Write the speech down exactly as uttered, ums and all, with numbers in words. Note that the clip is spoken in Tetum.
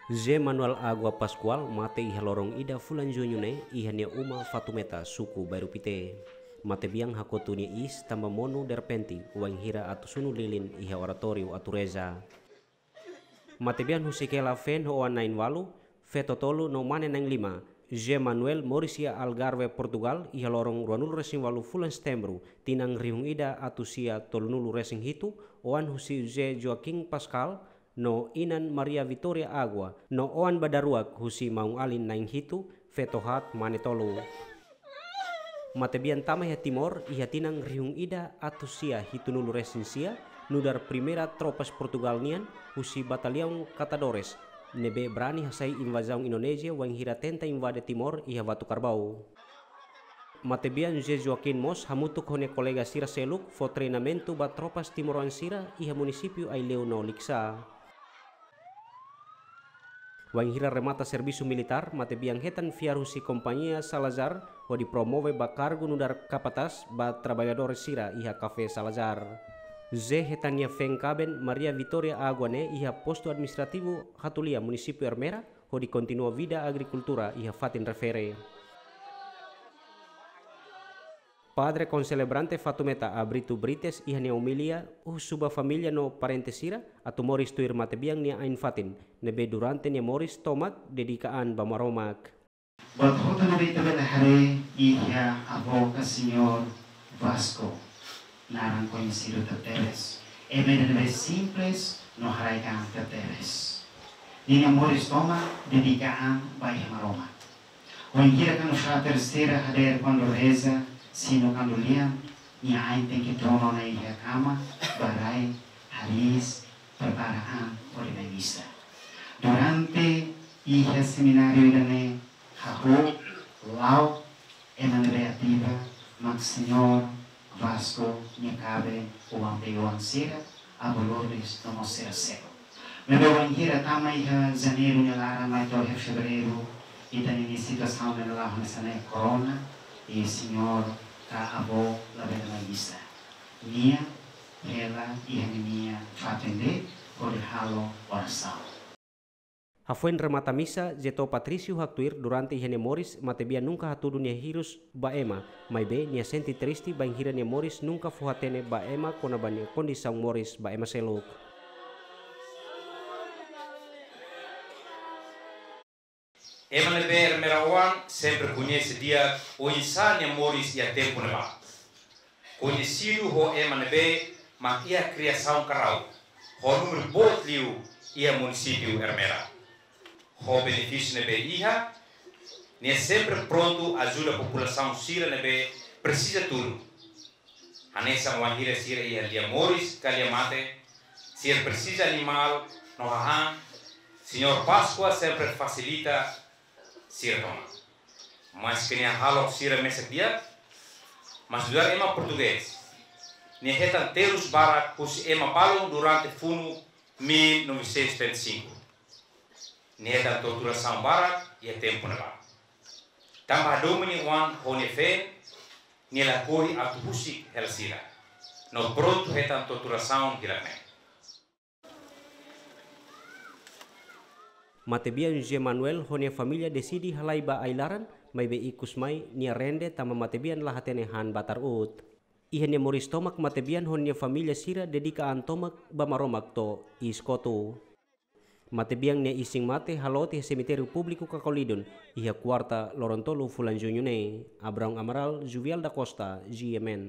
José Manuel Água Pascoal mate iha loron ida fulan Juñu ne'e iha nia uma Fatumeta, suku Bairru Pité. Matebian hakotu nia iis tanba monu derrepente, wainhira atu sunu lilin iha oratóriu atu reza. Matebian husik hela feen ho oan na'in-ualu, feto tolu no mane na'in-lima. José Manuel moris iha Algarve, Portugal, iha loron ruanulu-resin-ualu fulan Setembru, tinan rihun ida atus sia tolunulu-resin-hitu, oan husi José Joaquim Pascoal, no inan Maria Vitória Água, no oan ba daruak husi maun-alin na'in-hitu, feto haat, mane tolu. Matebian tama iha Timor iha tinan rihun ida atus sia hitunulu-resin-sia, nu'udar primeira tropas Portugal nian husi Bataliaun Catadores, ne'ebé brani hasai invazaun Indonézia wainhira tenta invade Timor iha Vatu Karbau. Matebian José Joaquim mós hamutuk ho nia kolega sira seluk fó treinamentu ba tropas timoroan sira iha munisípiu Aileu no Likisá. Wainhira remata servisu militár, matebian hetan fiar husi Kompañia Salazar hodi promove ba kargu nu'udar kapatás ba traballadór sira iha Kafé Salazar. José hetan nia feen kaben Maria Vitória Água ne'e iha postu administrativu Hatulia, munisípiu Ermera, hodi kontinua vida agrikultura iha fatin refere. Padre konselebrante Fatumeta Abrito Brites iha nia omilia husu ba família no parente sira atu moris tuir matebian nia ain-fatin, ne'ebé durante nia moris tomak dedika an ba Maromak. Buat hotu ne'ebé ita bele haree iha avó ka señór Vasco, naran koñesidu tebes. Ema ida ne'ebé simples no haraik an tebes. Ninia moris tomak dedika an ba iha Maromak. Wainhira kuandu frater sira hadeer kuandu reza, sino kuandu lian, nia ain tenke tonu ona iha kama, ba rai, hariis, prepara an hodi mai misa. Durante iha semináriu ida-ne'e, hahú, la'o, ema ne'ebé ativa, mak señór Vasco nia kaben, oan-feton sira, avó Lourdes no mós sira seluk. Maibé wainhira tama iha Janeiru nia laran mai to'o iha Fevereiru, ita-nia situasaun ne'e la'o hanesan ne'e, korona, i señór ka avó labele mai misa. Nia hela iha ninia fatin de'it hodi halo orasaun. Hafoin remata misa, José Patrício haktuir durante iha nia moris, matebian nunka hatudu nia hirus ba ema, maibé nia sente triste bainhira nia moris nunka fó hatene ba ema kona-ba nia kondisaun moris ba ema seluk. Ema ne'ebé Ermera oan sempre koñese di'ak oinsá nia moris iha tempu ne'ebá. Koñesidu ho ema ne'ebé mak iha kriasaun karau, ho númeru boot liu iha munisípiu Ermera. Ho benefísiu ne'ebé iha, nia sempre prontu ajuda populasaun sira ne'ebé presiza tudu. Hanesan wainhira sira iha lia moris ka lia mate, sira presiza animál no hahán, señór Páskua sempre fasilita sira tomak. Maske nia hahalok sira mesak di'ak, mas nu'udar ema portugés, nia hetan terus barak husi ema balun durante funu mil novecentos e setenta e cinco. Nia hetan torturasaun barak iha tempu ne'ebá. Tanba hadomi nia oan ho nia feen, nia lakohi atu husik hela sira. No prontu hetan torturasaun hirak-ne'e. Matebian José Manuel ho nia família deside halai ba ai-laran, maibé ikus mai nia rende tanba matebian la hatene han batar uut. Iha nia moris tomak matebian ho nia família sira dedika an tomak ba Maromak to'o iis kotuk. Matebian nia isin-mate halot iha semitériu públiku Cacolidon, iha kuarta loron tolu fulan Juñu ne'e. Abraão Amaral, Juvial da Costa, G M N.